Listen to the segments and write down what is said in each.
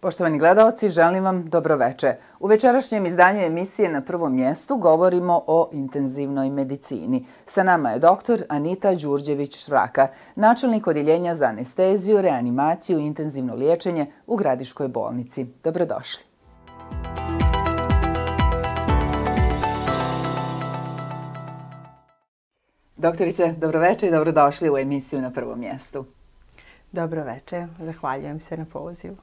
Poštovani gledaoci, želim vam dobroveče. U večerašnjem izdanju emisije Na prvom mjestu govorimo o intenzivnoj medicini. Sa nama je dr. Anita Đurđević-Švraka, načelnik Odjeljenja za anesteziju, reanimaciju i intenzivno liječenje u Gradiškoj bolnici. Dobrodošli. Doktorice, dobroveče i dobrodošli u emisiju Na prvom mjestu. Dobroveče, zahvaljujem se na pozivu.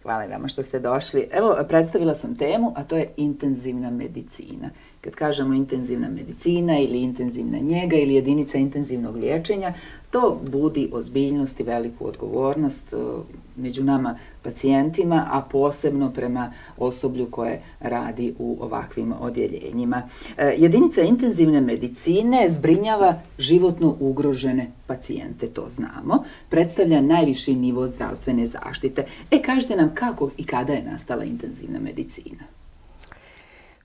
Hvala vama što ste došli. Evo, predstavila sam temu, a to je intenzivna medicina. Kad kažemo intenzivna medicina ili intenzivna njega ili jedinica intenzivnog liječenja, to budi ozbiljnost i veliku odgovornost među nama pacijentima, a posebno prema osoblju koje radi u ovakvim odjeljenjima. Jedinica intenzivne medicine zbrinjava životno ugrožene pacijente, to znamo. Predstavlja najviši nivo zdravstvene zaštite. Kažite nam kako i kada je nastala intenzivna medicina?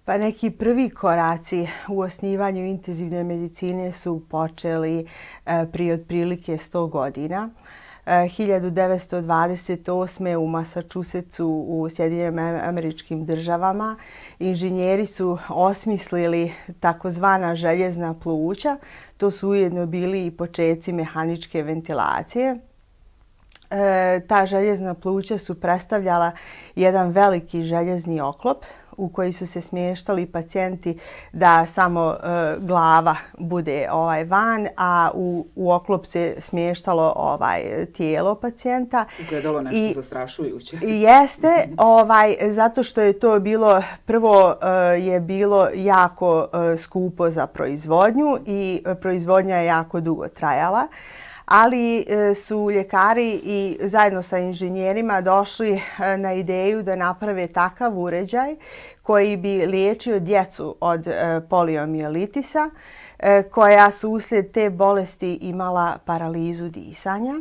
Pa neki prvi koraci u osnivanju intenzivne medicine su počeli prije otprilike 100 godina. 1928. u Massachusettsu u Sjedinjenim Američkim Državama inženjeri su osmislili takozvana željezna pluća. To su ujedno bili i počeci mehaničke ventilacije. Ta željezna pluća su predstavljala jedan veliki željezni oklop u koji su se smještali pacijenti da samo glava bude van, a u oklop se smještalo tijelo pacijenta. Izgledalo nešto zastrašujuće. Jeste, zato što je to bilo, prvo je bilo jako skupo za proizvodnju i proizvodnja je jako dugo trajala. Ali su ljekari i zajedno sa inženjerima došli na ideju da naprave takav uređaj koji bi liječio djecu od poliomijelitisa, koja su uslijed te bolesti imala paralizu disanja.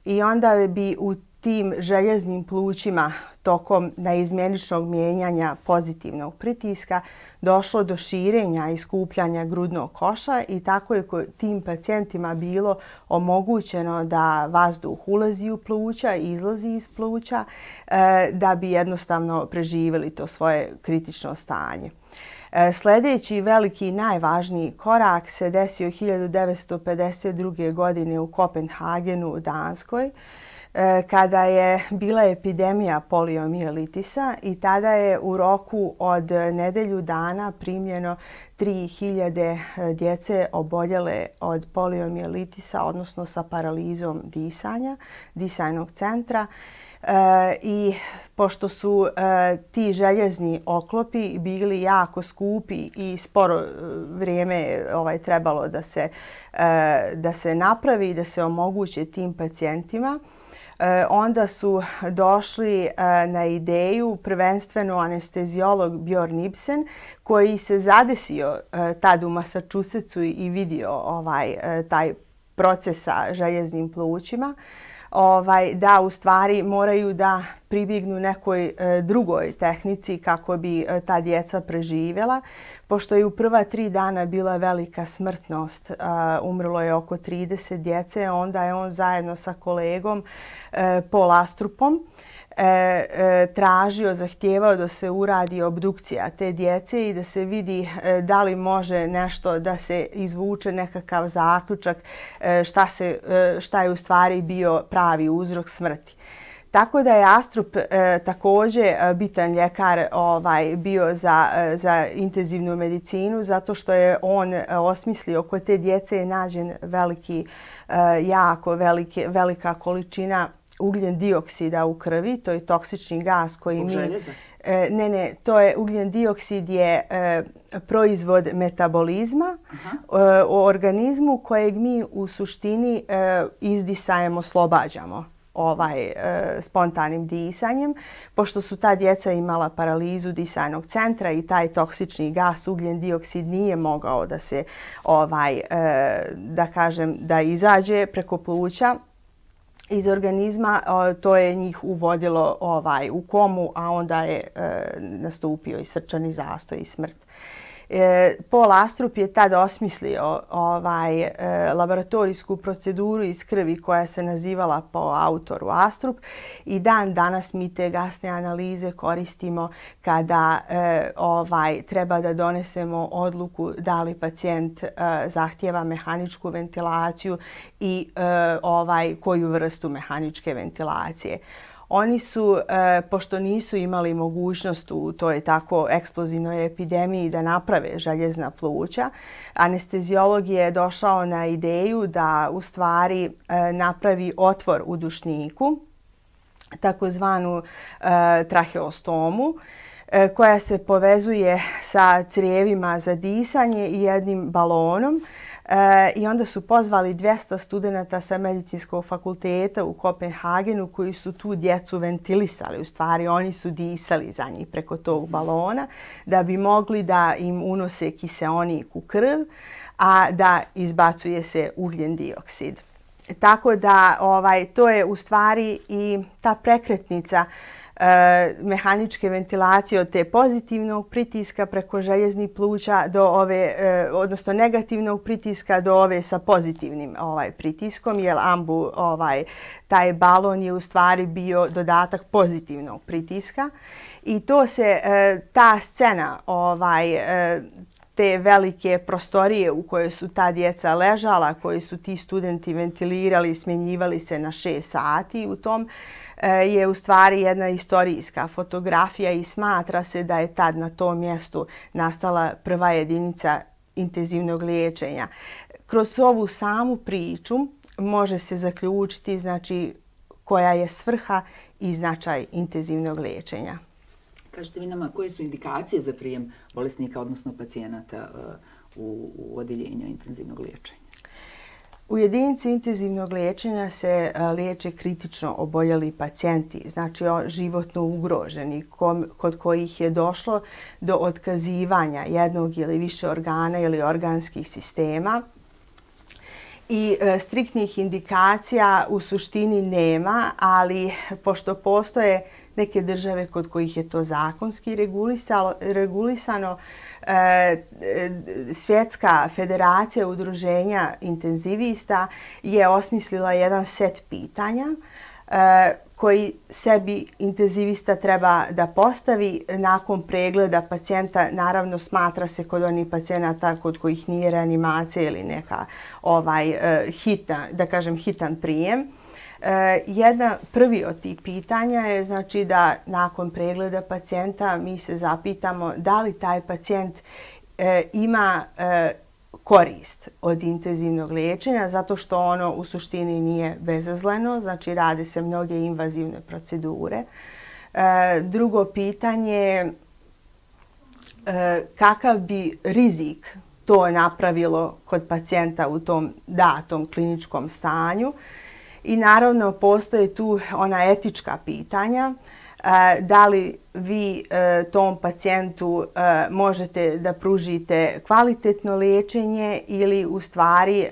I onda bi u tim željeznim plućima tokom neizmjeničnog mijenjanja pozitivnog pritiska došlo do širenja i skupljanja grudnog koša i tako je tim pacijentima bilo omogućeno da vazduh ulazi u pluća i izlazi iz pluća da bi jednostavno preživjeli to svoje kritično stanje. Sljedeći veliki i najvažniji korak se desio 1952. godine u Kopenhagenu u Danskoj, kada je bila epidemija poliomijelitisa i tada je u roku od nedelju dana primljeno 3000 djece oboljele od poliomijelitisa, odnosno sa paralizom disanja, disajnog centra. I pošto su ti željezni oklopi bili jako skupi i sporo vrijeme trebalo da se napravi i da se omoguće tim pacijentima, onda su došli na ideju prvenstveno anesteziolog Bjorn Ibsen, koji se zadesio tad u Massachusettsu i vidio taj proces sa željeznim plućima, da u stvari moraju da pribjegnu nekoj drugoj tehnici kako bi ta djeca preživjela. Pošto je u prva 3 dana bila velika smrtnost, umrlo je oko 30 djece, onda je on zajedno sa kolegom Paul Astrupom zahtijevao da se uradi obdukcija te djece i da se vidi da li može nešto da se izvuče nekakav zaključak šta je u stvari bio pravi uzrok smrti. Tako da je Astrup također bitan ljekar bio za intenzivnu medicinu, zato što je on osmislio kod te djece je nađen velika količina ugljen dioksida u krvi. To je toksični gas koji Zbog željeza? Ne, to je ugljen dioksid je proizvod metabolizma u organizmu kojeg mi u suštini izdisajem, oslobađamo spontanim disanjem. Pošto su ta djeca imala paralizu disajnog centra i taj toksični gas, ugljen dioksid, nije mogao da se, da izađe preko pluća iz organizma, to je njih uvodilo u komu, a onda je nastupio i srčani zastoj i smrt. Paul Astrup je tad osmislio laboratorijsku proceduru iz krvi koja se nazivala po autoru Astrup i dan danas mi te gasne analize koristimo kada treba da donesemo odluku da li pacijent zahtijeva mehaničku ventilaciju i koju vrstu mehaničke ventilacije. Oni su, pošto nisu imali mogućnost u toj tako eksplozivnoj epidemiji da naprave željezna pluća, anesteziolog je došao na ideju da u stvari napravi otvor u dušniku, takozvanu traheostomu, koja se povezuje sa crijevima za disanje i jednim balonom. I onda su pozvali 200 studenata sa medicinskog fakulteta u Kopenhagenu koji su tu djecu ventilisali. U stvari oni su disali za njih preko tog balona da bi mogli da im unose kiseonik u krv, a da izbacuje se ugljen dioksid. Tako da to je u stvari i ta prekretnica mehaničke ventilacije od te pozitivnog pritiska preko željeznih pluća do odnosno negativnog pritiska do ove sa pozitivnim pritiskom, jer taj balon je u stvari bio dodatak pozitivnog pritiska i ta scena te velike prostorije u kojoj su ta djeca ležala, koji su ti studenti ventilirali, smjenjivali se na 6 sati. U tom je u stvari jedna istorijska fotografija i smatra se da je tad na tom mjestu nastala prva jedinica intenzivnog liječenja. Kroz ovu samu priču može se zaključiti koja je svrha i značaj intenzivnog liječenja. Kažete vi nama koje su indikacije za prijem bolesnika, odnosno pacijenata u odjeljenju intenzivnog liječenja? U jedinici intenzivnog liječenja se liječe kritično oboljeli pacijenti, znači životno ugroženi, kod kojih je došlo do otkazivanja jednog ili više organa ili organskih sistema. I striktnih indikacija u suštini nema, ali pošto postoje neke države kod kojih je to zakonski regulisano, Svjetska federacija udruženja intenzivista je osmislila jedan set pitanja koji sebi intenzivista treba da postavi nakon pregleda pacijenta. Naravno, smatra se kod onih pacijenata kod kojih nije reanimacija ili neka hitan prijem. Prvi od tih pitanja je da nakon pregleda pacijenta mi se zapitamo da li taj pacijent ima korist od intenzivnog liječenja, zato što ono u suštini nije bezazleno, znači rade se mnoge invazivne procedure. Drugo pitanje je kakav bi rizik to napravilo kod pacijenta u tom datom kliničkom stanju. I naravno postoje tu ona etička pitanja, da li vi tom pacijentu možete da pružite kvalitetno liječenje ili u stvari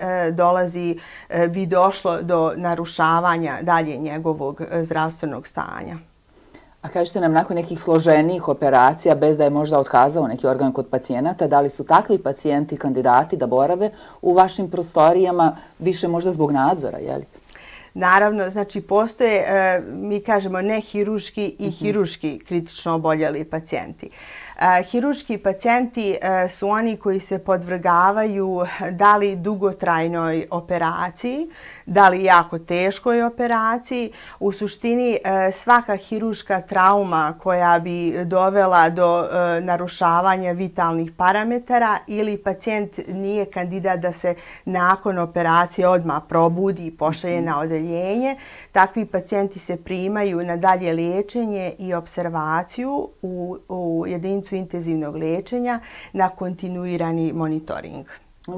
bi došlo do narušavanja dalje njegovog zdravstvenog stanja. A kažete nam, nakon nekih složenijih operacija, bez da je možda otkazao neki organ kod pacijenata, da li su takvi pacijenti kandidati da borave u vašim prostorijama više možda zbog nadzora, je li? Naravno, znači postoje, mi kažemo, nehiruški i hiruški kritično oboljeli pacijenti. Hiruški pacijenti su oni koji se podvrgavaju da li dugotrajnoj operaciji, da li jako teškoj operaciji. U suštini svaka hiruška trauma koja bi dovela do narušavanja vitalnih parametara ili pacijent nije kandidat da se nakon operacije odmah probudi i pošalje na odeljenje, takvi pacijenti se primaju na dalje liječenje i observaciju u jedinicu intenzivnog liječenja na kontinuirani monitoring.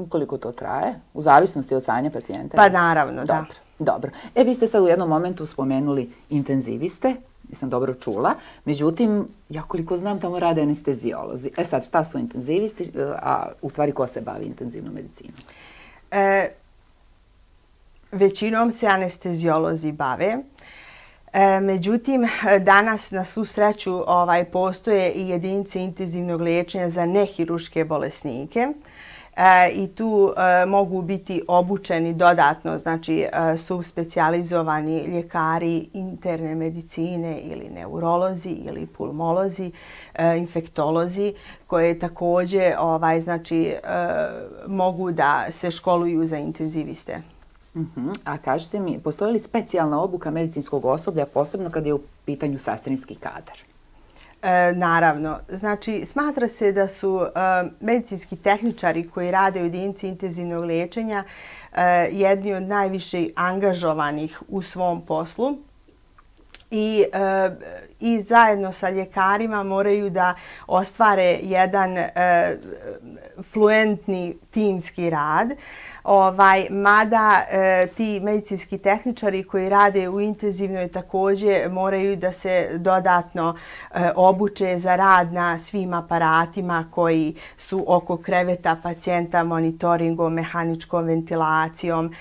Koliko to traje? U zavisnosti od stanja pacijenta? Pa naravno, da. Dobro. Vi ste sad u jednom momentu spomenuli intenziviste, nisam dobro čula, međutim, ja koliko znam, tamo rade anesteziolozi. Sad, šta su intenzivisti, a u stvari ko se bavi intenzivnom medicinom? Većinom se anesteziolozi bave. Međutim, danas na svu sreću postoje i jedinice intenzivnog liječenja za nehiruške bolesnike. I tu mogu biti obučeni dodatno, znači subspecijalizovani ljekari interne medicine ili neurolozi ili pulmolozi, infektolozi koje također znači, mogu da se školuju za intenziviste. A kažete mi, postoji li specijalna obuka medicinskog osoblja, posebno kad je u pitanju sestrinski kadar? Naravno. Znači, smatra se da su medicinski tehničari koji rade u jedinici intenzivnog liječenja jedni od najviše angažovanih u svom poslu i zajedno sa ljekarima moraju da ostvare jedan fluentni timski rad. Mada ti medicinski tehničari koji rade u intenzivnoj također moraju da se dodatno obuče za rad na svim aparatima koji su oko kreveta pacijenta, monitoringom, mehaničkom ventilacijom.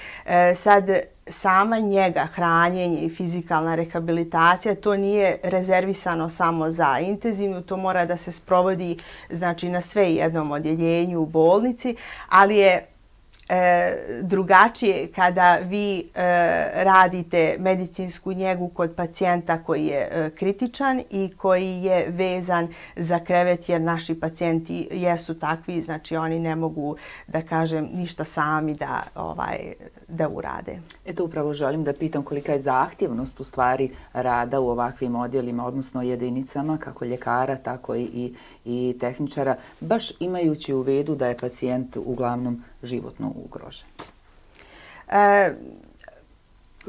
Sad, sama njega, hranjenje i fizikalna rehabilitacija, to nije rezervisano samo za intenzivnu, to mora da se sprovodi znači, na sve jednom odjeljenju u bolnici, ali je drugačije kada vi radite medicinsku njegu kod pacijenta koji je kritičan i koji je vezan za krevet jer naši pacijenti jesu takvi, znači oni ne mogu da kažem ništa sami da urade. Eto upravo želim da pitam kolika je zahtjevnost u stvari rada u ovakvim odjelima, odnosno jedinicama, kako ljekara, tako i tehničara, baš imajući u vidu da je pacijent uglavnom životno ugrožen.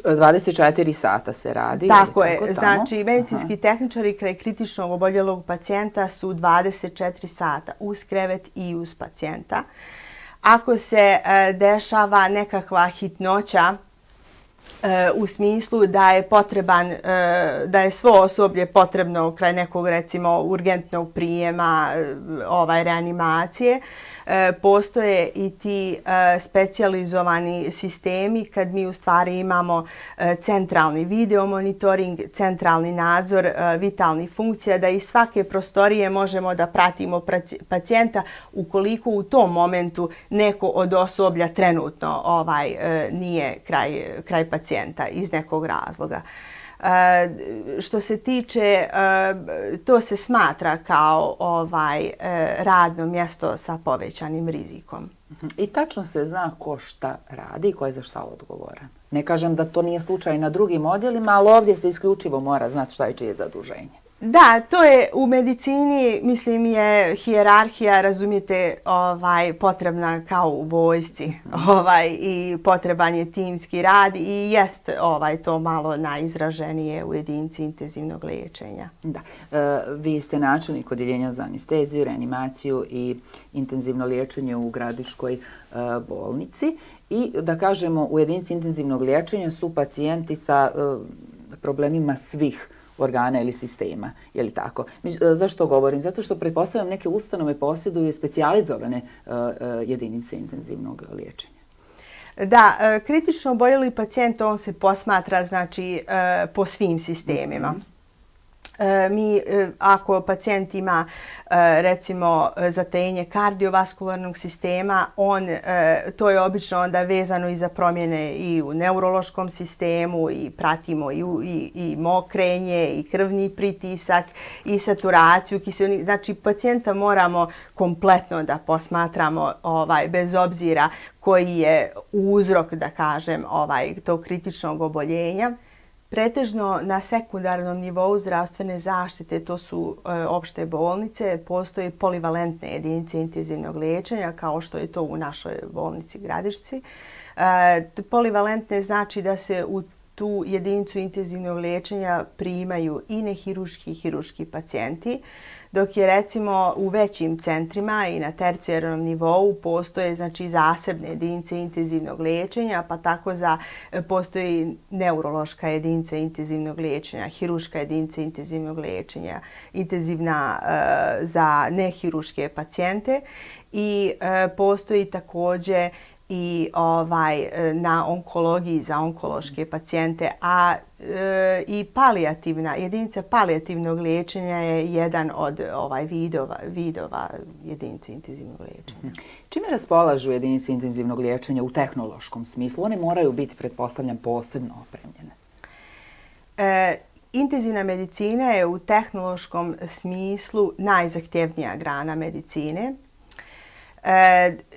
24 sata se radi. Tako je. Znači, medicinski tehničari kraj kritičnog oboljelog pacijenta su 24 sata uz krevet i uz pacijenta. Ako se dešava nekakva hitnoća u smislu da je potreban, da je svo osoblje potrebno kraj nekog recimo urgentnog prijema, reanimacije, postoje i ti specijalizovani sistemi kad mi u stvari imamo centralni video monitoring, centralni nadzor vitalnih funkcija, da iz svake prostorije možemo da pratimo pacijenta ukoliko u tom momentu neko od osoblja trenutno nije kraj pacijenta iz nekog razloga. Što se tiče, to se smatra kao radno mjesto sa povećanim rizikom. I tačno se zna ko šta radi i ko je za šta odgovoran. Ne kažem da to nije slučaj na drugim odjelima, ali ovdje se isključivo mora znati šta je čije zaduženje. Da, to je u medicini, mislim, je hijerarhija, razumijete, potrebna kao u vojsci i potreban je timski rad i jest to malo najizraženije u jedinici intenzivnog liječenja. Da, vi ste načelnik odjeljenja za anesteziju, reanimaciju i intenzivno liječenje u Gradiškoj bolnici i da kažemo u jedinici intenzivnog liječenja su pacijenti sa problemima svih organa ili sistema, je li tako? Zašto govorim? Zato što pretpostavljam neke ustanove posjeduju specijalizovane jedinice intenzivnog liječenja. Da, kritično oboljeli pacijent, on se posmatra znači po svim sistemima. Mi, ako pacijent ima recimo zatenje kardiovaskularnog sistema, to je obično onda vezano i za promjene i u neurološkom sistemu i pratimo i mokrenje i krvni pritisak i saturaciju kiseonika. Znači pacijenta moramo kompletno da posmatramo bez obzira koji je uzrok, da kažem, tog kritičnog oboljenja. Pretežno na sekundarnom nivou zdravstvene zaštite, to su opšte bolnice, postoje polivalentne jedinice intenzivnog liječenja kao što je to u našoj bolnici Gradišci. Polivalentne znači da se u tu jedinicu intenzivnog liječenja primaju i nehiruški i hiruški pacijenti, dok je recimo u većim centrima i na tercijarnom nivou postoje znači zasebne jedinice intenzivnog liječenja, pa tako postoji neurološka jedinica intenzivnog liječenja, hiruška jedinica intenzivnog liječenja, intenzivna za nehiruške pacijente i postoji također i na onkologiji za onkološke pacijente, a i jedinica palijativnog liječenja je jedan od vidova jedinice intenzivnog liječenja. Čime raspolažu jedinice intenzivnog liječenja u tehnološkom smislu? One moraju biti, pretpostavljam, posebno opremljene. Intenzivna medicina je u tehnološkom smislu najzahtjevnija grana medicine.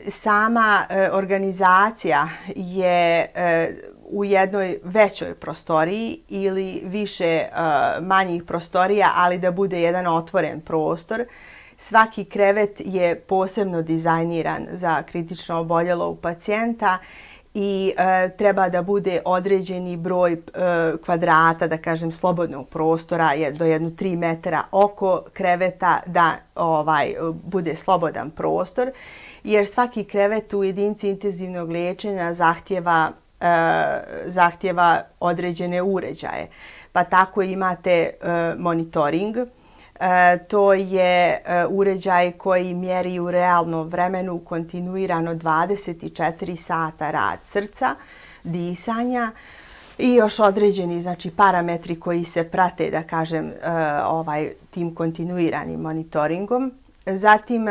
Sama organizacija je u jednoj većoj prostoriji ili više manjih prostorija, ali da bude jedan otvoren prostor. Svaki krevet je posebno dizajniran za kritično oboljelog pacijenta i treba da bude određeni broj kvadrata, da kažem, slobodnog prostora do 3 metra oko kreveta da bude slobodan prostor, jer svaki krevet u jedinici intenzivnog liječenja zahtjeva određene uređaje. Pa tako imate monitoring. To je uređaj koji mjeri u realnom vremenu kontinuirano 24 sata rad srca, disanja i još određeni parametri koji se prate, da kažem, tim kontinuiranim monitoringom. Zatim,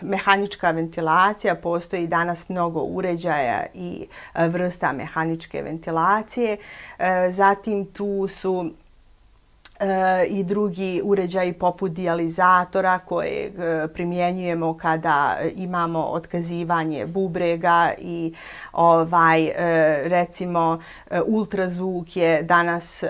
mehanička ventilacija, postoji danas mnogo uređaja i vrsta mehaničke ventilacije. Zatim, tu su i drugi uređaji poput dijalizatora koje primjenjujemo kada imamo otkazivanje bubrega i recimo ultrazvuk je danas,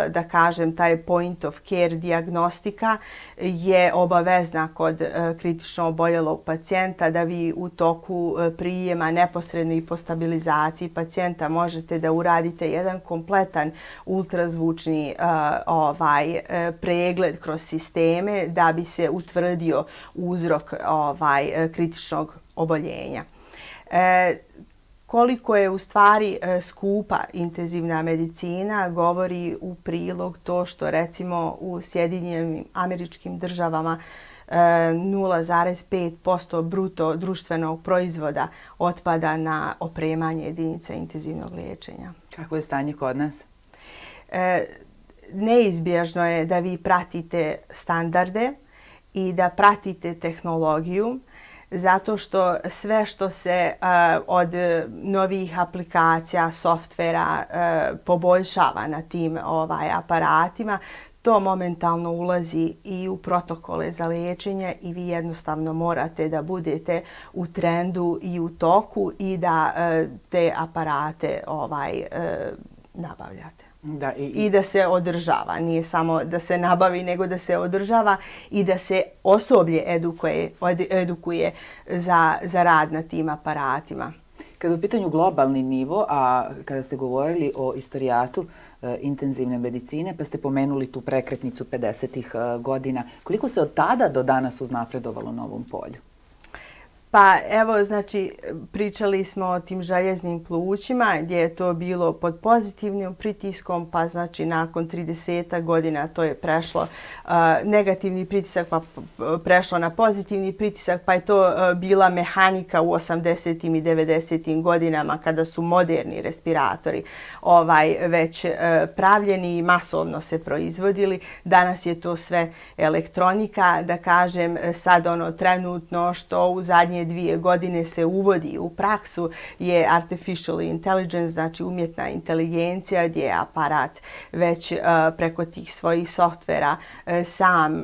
da kažem, taj point of care dijagnostika je obavezna kod kritično oboljelog pacijenta, da vi u toku prijema neposredno i po stabilizaciji pacijenta možete da uradite jedan kompletan ultrazvučni pregled kroz sisteme da bi se utvrdio uzrok kritičnog oboljenja. Koliko je u stvari skupa intenzivna medicina govori u prilog to što recimo u Sjedinjenim Američkim Državama 0,5% bruto društvenog proizvoda otpada na opremanje jedinica intenzivnog liječenja. Kako je stanje kod nas? Neizbježno je da vi pratite standarde i da pratite tehnologiju, zato što sve što se od novih aplikacija, softvera poboljšava na tim aparatima, to momentalno ulazi i u protokole za liječenje i vi jednostavno morate da budete u trendu i u toku i da te aparate nabavljate. I da se održava. Nije samo da se nabavi, nego da se održava i da se osoblje edukuje za rad na tim aparatima. Kada je u pitanju globalni nivo, a kada ste govorili o istorijatu intenzivne medicine, pa ste pomenuli tu prekretnicu 50-ih godina, koliko se od tada do danas uznapredovalo na ovom polju? Pa evo, znači, pričali smo o tim željeznim plućima gdje je to bilo pod pozitivnim pritiskom, pa znači nakon 30 godina to je prešlo negativni pritisak, pa prešlo na pozitivni pritisak, pa je to bila mehanika u 80. i 90. godinama kada su moderni respiratori već pravljeni i masovno se proizvodili. Danas je to sve elektronika, da kažem, sad trenutno što u zadnje 2 godine se uvodi u praksu je artificial intelligence, znači umjetna inteligencija, gdje je aparat već preko tih svojih softvera sam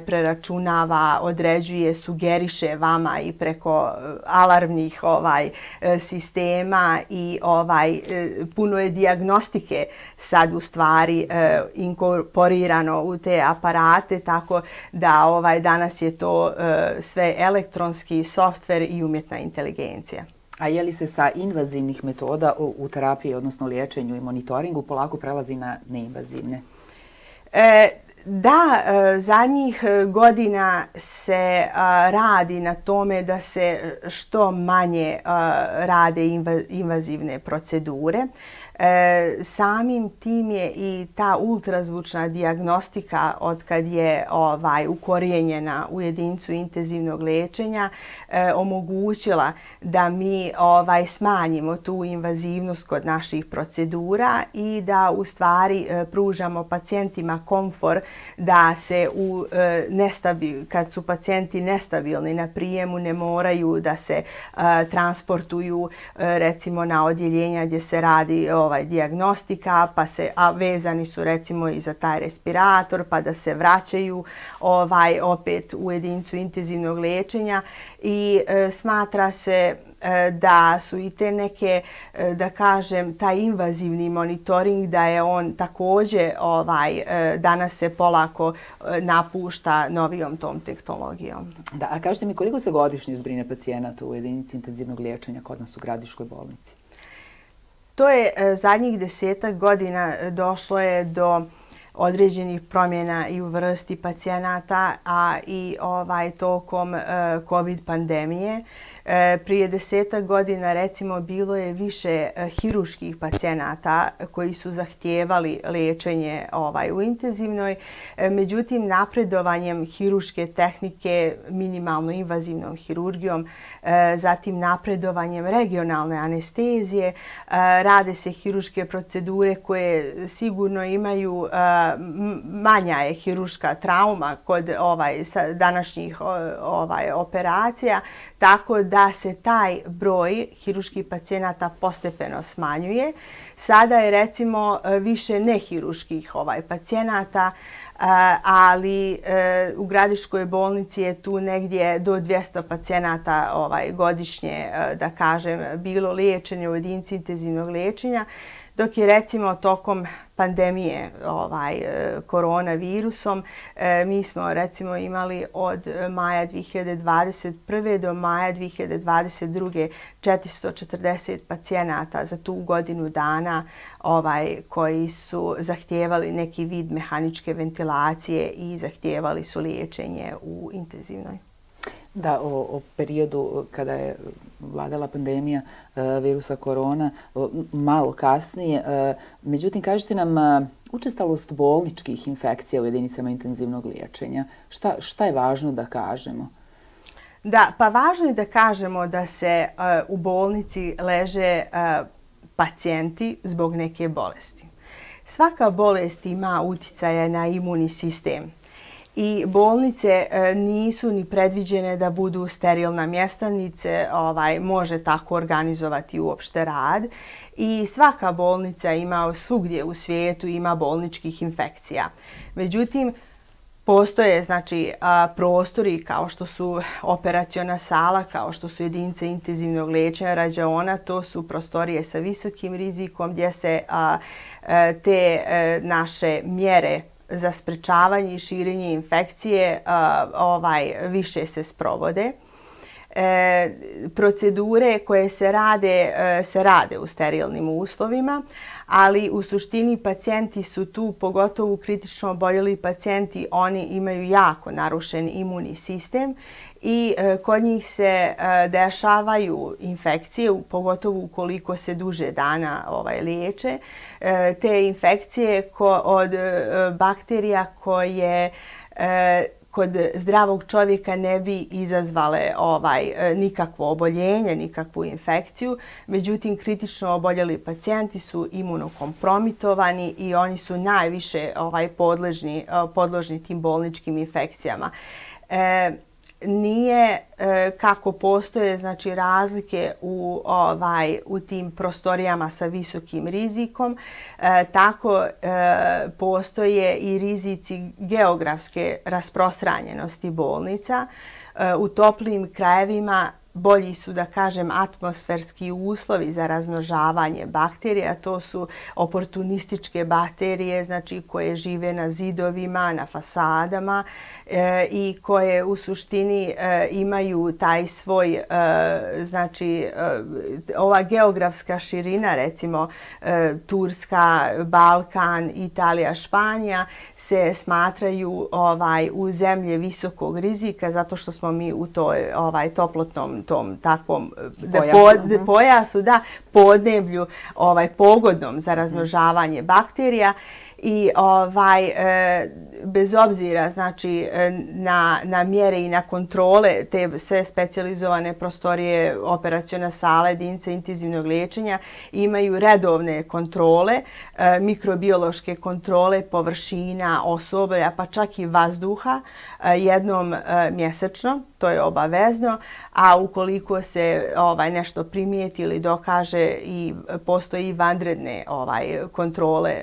preračunava, određuje, sugeriše vama i preko alarmnih sistema i puno je dijagnostike sad u stvari inkorporirano u te aparate, tako da danas je to sve elektronski softver i umjetna inteligencija. A je li se sa invazivnih metoda u terapiji, odnosno liječenju i monitoringu, polako prelazi na neinvazivne? Da, zadnjih godina se radi na tome da se što manje rade invazivne procedure. Samim tim je i ta ultrazvučna dijagnostika od kad je ukorijenjena u jedinicu intenzivnog liječenja omogućila da mi smanjimo tu invazivnost kod naših procedura i da u stvari pružamo pacijentima komfor da se kad su pacijenti nestabilni na prijemu ne moraju da se transportuju recimo na odjeljenja gdje se radi dijagnostika, a vezani su recimo i za taj respirator, pa da se vraćaju opet u jedinicu intenzivnog liječenja i smatra se da su i te neke, da kažem, taj invazivni monitoring, da je on također danas se polako napušta novijom tom tehnologijom. Da, a kažete mi koliko se godišnje zbrine pacijenata u jedinici intenzivnog liječenja kod nas u Gradiškoj bolnici? To je zadnjih 10 godina došlo je do određenih promjena i u vrsti pacijenata, a i tokom COVID pandemije. Prije 10 godina recimo bilo je više hiruških pacijenata koji su zahtijevali liječenje u intenzivnoj. Međutim, napredovanjem hiruške tehnike minimalno invazivnom hirurgijom, zatim napredovanjem regionalne anestezije, rade se hiruške procedure koje sigurno imaju manja je hiruška trauma kod današnjih operacija, tako da se taj broj hiruških pacijenata postepeno smanjuje. Sada je recimo više nehiruških pacijenata, ali u Gradiškoj bolnici je tu negdje do 200 pacijenata godišnje, da kažem, bilo liječenje u jedinici intenzivnog liječenja, dok je recimo tokom pandemije koronavirusom mi smo recimo imali od maja 2021. do maja 2022. 440 pacijenata za tu godinu dana koji su zahtijevali neki vid mehaničke ventilacije i zahtijevali su liječenje u intenzivnoj. Da, o periodu kada je vladala pandemija virusa korona, malo kasnije. Međutim, kažete nam učestalost bolničkih infekcija u jedinicama intenzivnog liječenja. Šta je važno da kažemo? Da, pa važno je da kažemo da se u bolnici leže pacijenti zbog neke bolesti. Svaka bolest ima uticaja na imunni sistem. I bolnice nisu ni predviđene da budu sterilna mjesta, niti se može tako organizovati uopšte rad. I svaka bolnica ima svugdje u svijetu ima bolničkih infekcija. Međutim, postoje prostori kao što su operaciona sala, kao što su jedinice intenzivnog liječenja, rađaona, to su prostorije sa visokim rizikom gdje se te naše mjere za sprečavanje i širenje infekcije više se sprovode. Procedure koje se rade u sterilnim uslovima, ali u suštini pacijenti su tu, pogotovo kritično oboljeli pacijenti, oni imaju jako narušen imunni sistem i kod njih se dešavaju infekcije, pogotovo ukoliko se duže dana liječe. Te infekcije od bakterija koje kod zdravog čovjeka ne bi izazvale nikakvo oboljenje, nikakvu infekciju. Međutim, kritično oboljeli pacijenti su imunokompromitovani i oni su najviše podložni tim bolničkim infekcijama. Nije kako postoje razlike u tim prostorijama sa visokim rizikom, tako postoje i rizici geografske rasprostranjenosti bolnica. U toplijim krajevima bolji su, da kažem, atmosferski uslovi za razmnožavanje bakterija. To su oportunističke bakterije, znači koje žive na zidovima, na fasadama i koje u suštini imaju taj svoj, znači ova geografska širina, recimo Turska, Balkan, Italija, Španija, se smatraju u zemlje visokog rizika zato što smo mi u toj toplotnom tom takvom pojasu, podneblju pogodnom za razmnožavanje bakterija. I bez obzira znači na mjere i na kontrole, te sve specijalizovane prostorije, operaciona sala, jedinice intenzivnog liječenja imaju redovne kontrole, mikrobiološke kontrole površina, osoblja, pa čak i vazduha jednom mjesečno, to je obavezno, a ukoliko se nešto primijeti ili dokaže i postoji vanredne kontrole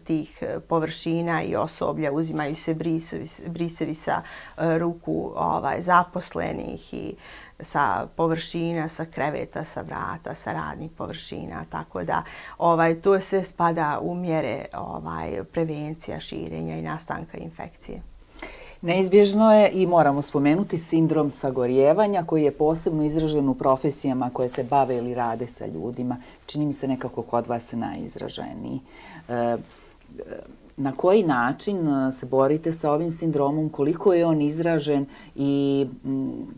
tih površina i osoblja, uzimaju se brisevi sa ruku zaposlenih i sa površina, sa kreveta, sa vrata, sa radnih površina, tako da to sve spada u mjere prevencija širenja i nastanka infekcije. Neizbježno je i moramo spomenuti sindrom sagorijevanja koji je posebno izražen u profesijama koje se bave ili rade sa ljudima. Čini mi se nekako kod vas najizraženiji. Na koji način se borite sa ovim sindromom, koliko je on izražen i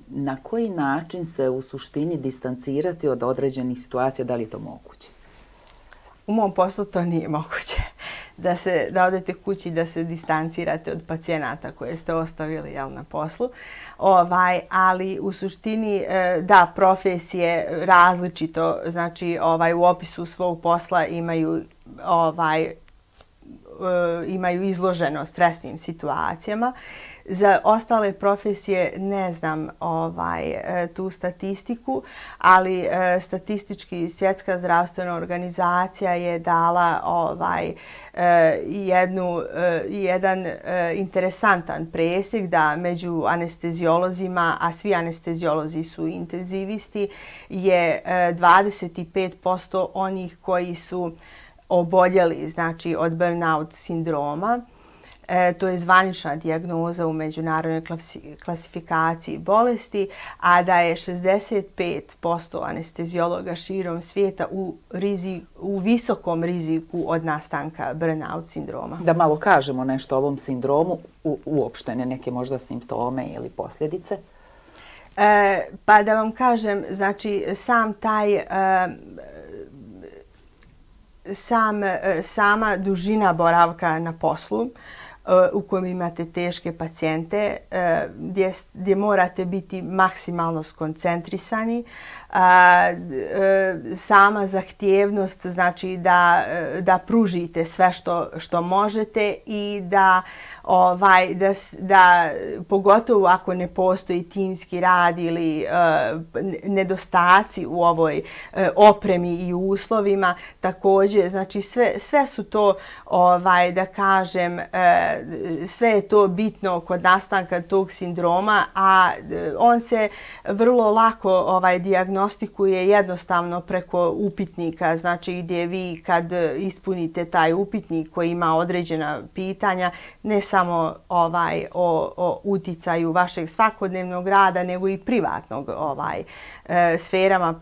na koji način se u suštini distancirati od određenih situacija, da li je to moguće? U mom poslu to nije moguće. Da odete kući, da se distancirate od pacijenata koje ste ostavili na poslu. Ali u suštini, da, profesije različito, znači u opisu svog posla imaju izloženo stresnim situacijama. Za ostale profesije ne znam tu statistiku, ali statistički Svjetska zdravstvena organizacija je dala jedan interesantan presjek da među anesteziolozima, a svi anesteziolozi su intenzivisti, je 25% onih koji su oboljeli, znači od burnout sindroma. To je zvanična dijagnoza u međunarodnoj klasifikaciji bolesti, a da je 65% anesteziologa širom svijeta u visokom riziku od nastanka burnout sindroma. Da malo kažemo nešto o ovom sindromu, uopštene neke možda simptome ili posljedice? Pa da vam kažem, znači sama dužina boravka na poslu u kojem imate teške pacijente, gdje morate biti maksimalno skoncentrisani. Sama zahtjevnost znači da pružite sve što možete i da pogotovo ako ne postoji timski rad ili nedostaci u ovoj opremi i uslovima, također znači sve su to da kažem sve je to bitno kod nastanka tog sindroma, a on se vrlo lako dijagnostikuje jednostavno preko upitnika, znači gdje vi kad ispunite taj upitnik koji ima određena pitanja, ne samo o uticaju vašeg svakodnevnog rada, nego i privatnog sferama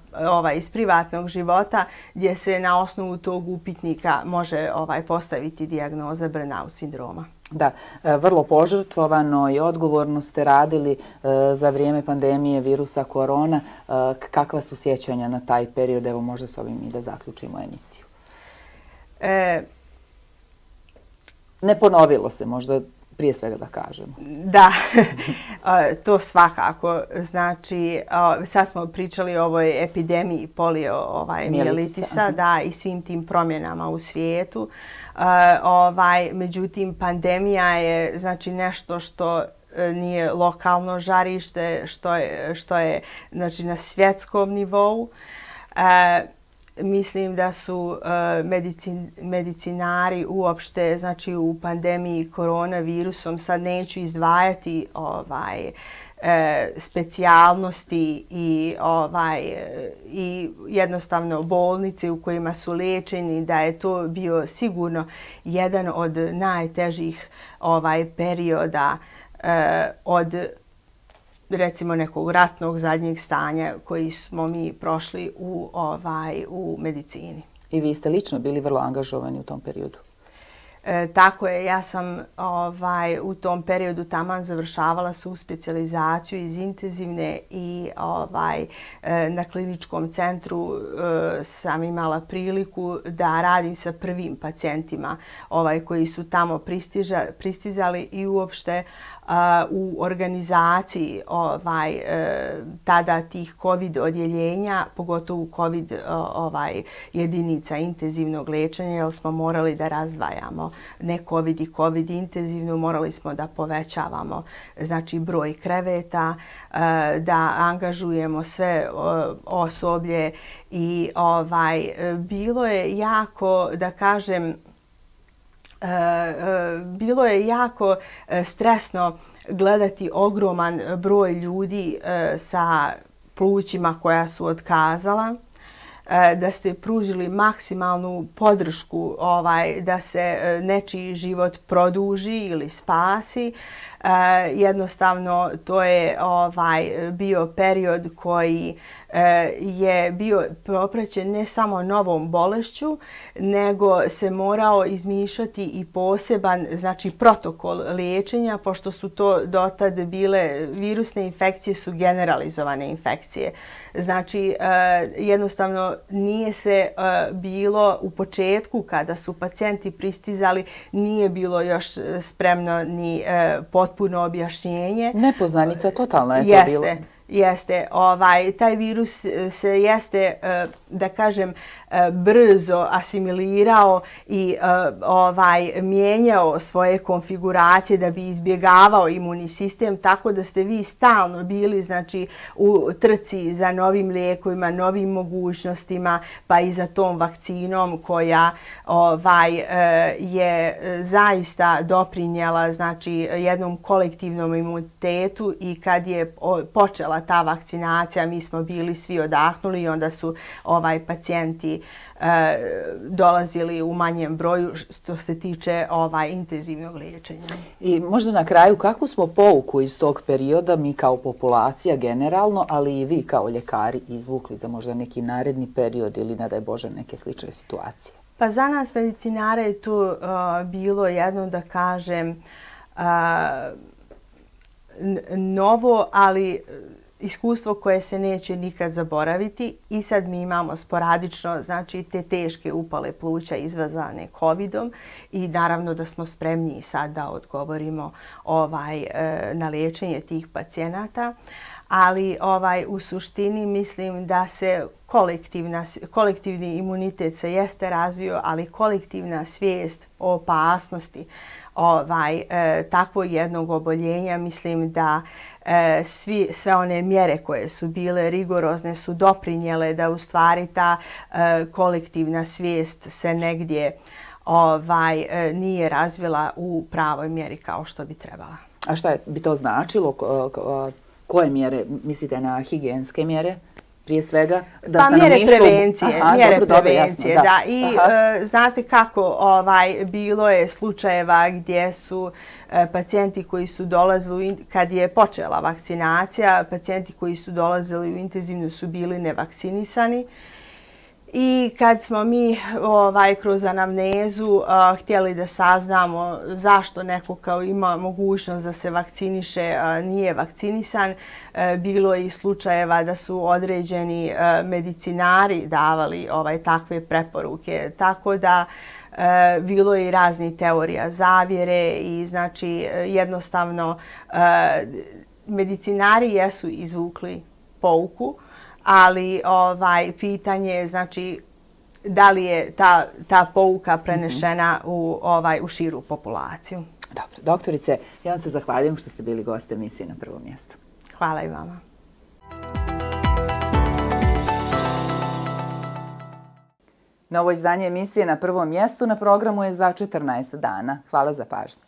iz privatnog života, gdje se na osnovu tog upitnika može postaviti dijagnoza burnout sindroma. Da, vrlo požrtvovano i odgovorno ste radili za vrijeme pandemije virusa korona. Kakva su sjećanja na taj period? Evo možda s ovim i da zaključimo emisiju. Ne ponovilo se, možda prije svega da kažemo. Da, to svakako. Znači, sad smo pričali o ovoj epidemiji poliomijelitisa, da, i svim tim promjenama u svijetu. Međutim, pandemija je znači nešto što nije lokalno žarište, što je znači na svjetskom nivou. mislim da su medicinari uopšte, znači u pandemiji koronavirusom, sad neću izdvajati specijalnosti i jednostavno bolnice u kojima su lečeni, da je to bio sigurno jedan od najtežih perioda od recimo nekog ratnog zadnjeg stanja koji smo mi prošli u medicini. I vi ste lično bili vrlo angažovani u tom periodu? Tako je, ja sam u tom periodu taman završavala subspecijalizaciju iz intenzivne i na kliničkom centru sam imala priliku da radim sa prvim pacijentima koji su tamo pristizali i uopšte u organizaciji tada tih COVID odjeljenja, pogotovo COVID jedinica intenzivnog liječenja, jer smo morali da razdvajamo ne COVID i COVID intenzivnu, morali smo da povećavamo znači broj kreveta, da angažujemo sve osoblje i bilo je jako, da kažem, bilo je jako stresno gledati ogroman broj ljudi sa plućima koja su otkazala, da ste pružili maksimalnu podršku da se nečiji život produži ili spasi. Jednostavno to je bio period koji je bio propraćen ne samo novom bolešću, nego se morao izmišljati i poseban znači protokol liječenja, pošto su to dotad bile virusne infekcije, su generalizovane infekcije. Znači jednostavno nije se bilo u početku kada su pacijenti pristizali, nije bilo još spremno ni potpuno objašnjenje. Nepoznanica, totalno je to bilo. Jeste. Taj virus se jeste, da kažem, brzo asimilirao i mijenjao svoje konfiguracije da bi izbjegavao imunni sistem, tako da ste vi stalno bili znači u trci za novim lijekovima, novim mogućnostima, pa i za tom vakcinom koja je zaista doprinijela znači jednom kolektivnom imunitetu i kad je počela ta vakcinacija, mi smo bili svi odahnuli i onda su pacijenti dolazili u manjem broju što se tiče intenzivnog liječenja. I možda na kraju, kakvu smo pouku iz tog perioda mi kao populacija generalno, ali i vi kao ljekari izvukli za možda neki naredni period ili, ne daj Bože, neke slične situacije? Pa za nas medicinare je tu bilo jedno, da kažem, novo, ali iskustvo koje se neće nikad zaboraviti i sad mi imamo sporadično znači te teške upale pluća izazvane COVID-om i naravno da smo spremni sad da odgovorimo na liječenje tih pacijenata. Ali u suštini mislim da se kolektivni imunitet se jeste razvio, ali kolektivna svijest o opasnosti takvog jednog oboljenja, mislim da sve one mjere koje su bile rigorozne su doprinijele da u stvari ta kolektivna svijest se negdje nije razvila u pravoj mjeri kao što bi trebala. A šta bi to značilo? Koje mjere? Mislite na higijenske mjere? Prije svega pa mjere prevencije, da. I znate kako, bilo je slučajeva gdje su pacijenti koji su dolazili, kad je počela vakcinacija, pacijenti koji su dolazili u intenzivnu su bili nevakcinisani. I kad smo mi kroz anamnezu htjeli da saznamo zašto neko kao ima mogućnost da se vakciniše, nije vakcinisan, bilo je i slučajeva da su određeni medicinari davali takve preporuke. Tako da bilo je i razni teorija zavjere i znači jednostavno medicinari jesu izvukli pouku, ali pitanje je znači da li je ta pouka prenešena u širu populaciju. Dobro, doktorice, ja vam se zahvaljujem što ste bili gost emisije Na prvom mjestu. Hvala i vama. Novo izdanje emisije Na prvom mjestu na programu je za 14 dana. Hvala za pažnju.